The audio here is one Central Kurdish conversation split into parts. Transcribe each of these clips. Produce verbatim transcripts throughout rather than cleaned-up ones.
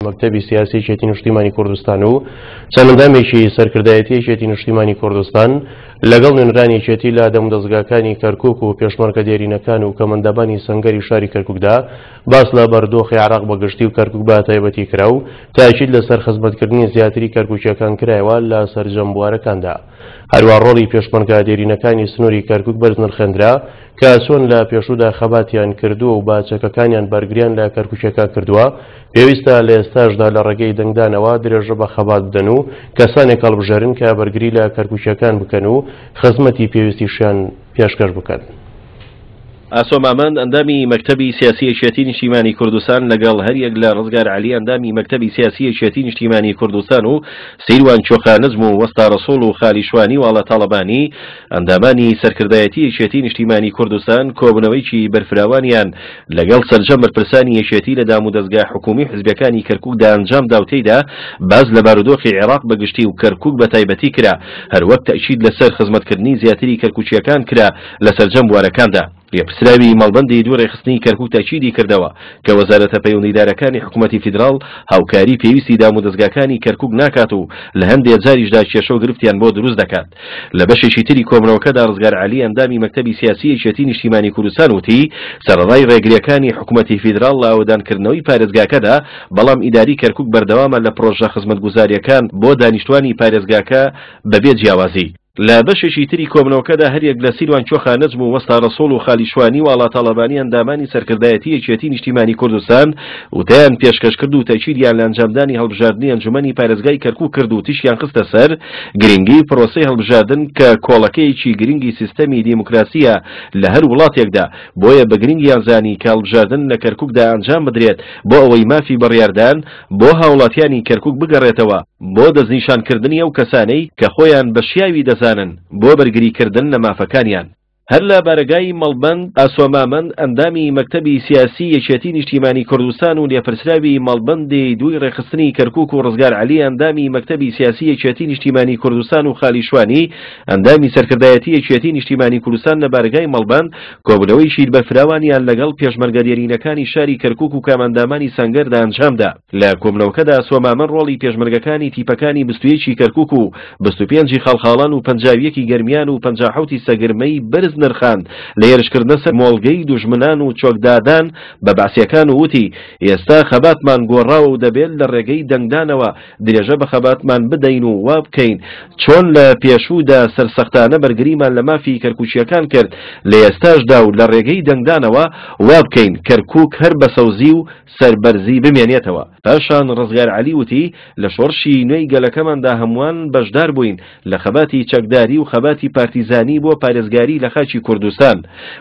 مەکتەبی سیاسی یەکێتی نیشتیمانی کوردستان و چەند ئەندامێکی سەرکردایەتی یەکێتی نیشتیمانی کوردستان لەگەڵ نوێنەرانی یەکێتی لە دەمودەزگاکانی کەرکوک و پێشمەرگە دێرینەکان و کەمەندەبانی سەنگەری شاری کەرکوکدا باس لە بەردۆخی عێراق بەگشتی و کەرکوک بە تایبەتی کرا و تاکید لەسەر خزمەتکردنی زیاتری کەرکوکیەکان کرایەوە لە سەرجەم بوارەکاندا. هەروە ڕۆڵی پێشمەرگە دێرینەکانی سنووری کەرکوک بەرز نرخێندرا کە چۆن لە پێشوودا خەباتیان کردووە و بە چەکەکانیان بەرگریان لە کەرکوکیەکان کردووە، پێویستە لە ئێستاشدا لە ڕێگەی دەنگدانەوە درێژە بە خەبات بدەن و کەسانێک هەڵبژێرن کە بەرگری لە کەرکوکیەکان بکەن و خزمەتی پێویستیشیان پێشکەش بکەن. ئاسۆ مامەند ئەندامی مەکتەبی سیاسی یەکێتی نیشتیمانی کوردستان لەگەڵ هەریەک لە ڕزگار عەلی ئەندامی مەکتەبی سیاسی یەکێتی نیشتیمانی کوردستان و سیروان چۆخا نەجم و وەستا ڕەسوڵ و خالی شوانی و ئاڵا تاڵەبانی ئەندامانی سەرکردایەتی یەکێتی نیشتیمانی کوردستان کۆبوونەوەیەکی بەرفراوانیان لەگەڵ سەرجەم بەرپرسانی یەکێتی لە دامودەزگا حکومی و حزبەکانی کەرکوکدا ئەنجامدا و تێیدا باس لە بارودۆخی عێراق بەگشتی و کەرکوک بە تایبەتی کرا، هەروەک تەئکید لەسەر خزمەتکردنی زیاتری کەرکوکیەکان کرا لە سەرجەم بوارەکاندا. لێپرسراوی مەڵبەندی دوو ڕێکخستنی کەرکوک تەئکیدی کردەوە کە وەزارەتە پەیوەندیدارەکانی حکوومەتی فیدراڵ هاوکاری پێویستی دامودەزگاکانی کەرکوک ناکات و لە هەندێ جاریشدا کێشە و گرفتیان بۆ دروست دەکات. لە بەشێکی تری کۆبوونەوەکەدا ڕزگار عەلی ئەندامی مەکتەبی سیاسی یەکێتی نیشتیمانی کوردستان وتی سەرەڕای ڕێگریەکانی حکوومەتی فیدراڵ لە ئاوەدانکردنەوەی پارێزگاکەدا، بەڵام ئیداری کەرکوک بەردەوامە لە پرۆژە خزمەتگوزاریەکان بۆ دانیشتوانی پارێزگاکە بەبێ جیاوازی. لە بەشێکی تری کۆبوونەوەکەدا هەریەک لە سیروان چۆخا نەجم و وەستا ڕەسوڵ و خالی شوانی و ئاڵا تاڵەبانی ئەندامانی سەرکردایەتی یەکێتی نیشتیمانی کوردستان وتەیان پێشکەش کرد و تەئکیدیان لە ئەنجامدانی هەڵبژاردنی ئەنجومەنی پارێزگای کەرکوک کرد و تیشکیان خستە سەر گرنگی پرۆسەی هەڵبژاردن کە کۆڵەکەیەکی گرنگی سیستەمی دیموکراسیە لە هەر وڵاتێکدا، بۆیە بە گرنگیان زانی کە هەڵبژاردن لە کەرکوکدا ئەنجام بدرێت بۆ ئەوەی مافی بڕیاردان بۆ هاوڵاتیانی کەرکوک بگەڕێتەوە بۆ دەستنیشانکردنی ئەو کەسانەی کە خۆیان بە شیاوی دەزانن بۆ بەرگریکردن لە مافەکانیان. هەر لە بارەگای مەڵبەند ئاسۆ مامەند ئەندامی مەکتەبی سیاسی یەکێتی نیشتیمانی کوردستان و لێپرسراوی مەڵبەندی دووی ڕێکخستنی کەرکوک و ڕزگار عەلی ئەندامی مەکتەبی سیاسی یەکێتی نیشتیمانی کوردستان و خالی شوانی ئەندامی سەرکردایەتی یەکێتی نیشتیمانی کوردستان لە بارەگای مەڵبەند کۆبوونەوەیەکی بەرفراوانیان لەگەڵ پێشمەرگە دێرینەکانی شاری کەرکوک و کامەندامانی سەنگەردا ئەنجامدا. لە کۆبوونەوەکەدا ئاسۆ مامەند ڕۆڵی پێشمەرگەکانی تیپەکانی بیست و یەک ی کەرکوک و بیست و پێنج ی خاڵخاڵان و پەنجا و یەک ی گەرمیان و پەنجا و حەوت ی سەگرمەی بەرز نرخاند لە هێرشکردنە سەر مۆڵگەی دوژمنان و چۆکدادان بە بەعسیەکان و وتی ئێستا خەباتمان گۆڕاوە و دەبێت لە ڕێگەی دەنگدانەوە درێژە بە خەباتمان بدەین و وا بکەین چۆن لە پێشوودا سەرسەختانە بەرگریمان لە مافی کەرکوکیەکان کرد لە ئێستاشدا و لە ڕێگەی دەنگدانەوە وا بکەین کەرکوک هەر بە سەوزی و سەربەرزی بمێنێتەوە. پاشان ڕزگار عەلی وتی، لە شۆڕشی نوێی گەلەکەماندا هەمووان بەشدار بووین لە خەباتی چەکداری و خەباتی پارتیزانی بۆ پارێزگاری لە خاکی کوردستان.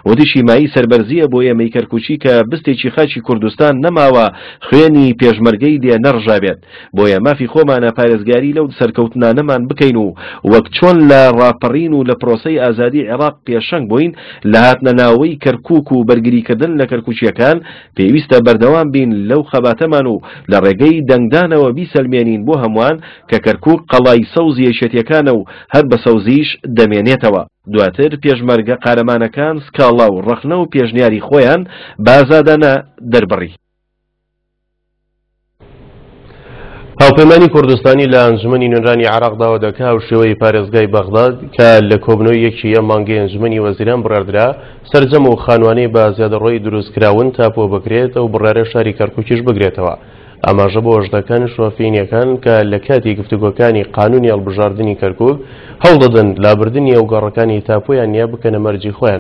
وتیشی مایەی سەربەرزییە بۆ ئێمەی کەرکوکی کە بستێکی خاکی کوردستان نەماوە خوێنی پێشمەرگەی لێ نەڕژابێت. بۆیە مافی خۆمانە پارێزگاری لەو سەرکەوتنانەمان بکەین و وەک چۆن لە ڕاپەڕین و لە پرۆسەی ئازادی عێراق پێشەنگ بووین لە هاتنەناوەی کەرکوک و بەرگریکردن لە کەرکوکییەکان پێویستە بەردەوام بین لەو خەباتەمان و لە ڕێگەی دەنگدانەوە بیسەلمێنین بۆ هەمووان کە کەرکوک قەڵای سەوزی یەکێتیەکانە و هەر بە سەوزیش دەمێنێتەوە. دواتر پێشمەرگە قارەمانەکان سکاڵا و ڕەخنە و پێشنیاری خۆیان بە ئازادانە دەربڕی. هاوپەیمانی کوردستانی لە ئەنجومەنی نوێنەرانی عێراق داوا دەکا هاوشێوەی پارێزگای بەغداد کە لە کۆبوونەوەی یەکی ئەم مانگەی ئەنجومەنی وەزیران بڕیاردرا سەرجەم و خانوانەی بە زیادەڕۆیی دروستکراون تاپۆ بکرێت ئەو بڕیارە شاری کەرکوکیش بگرێتەوە. ئاماژە بۆ ئەوەش دەکەن شۆفینیەکان کە لە کاتی گفتوگۆکانی قانونی هەڵبژاردنی کەرکوک هەوڵدەدەن لابردنی ئەو گەڕەکانی تاپۆیان نییە بکەنە مەرجی خۆیان.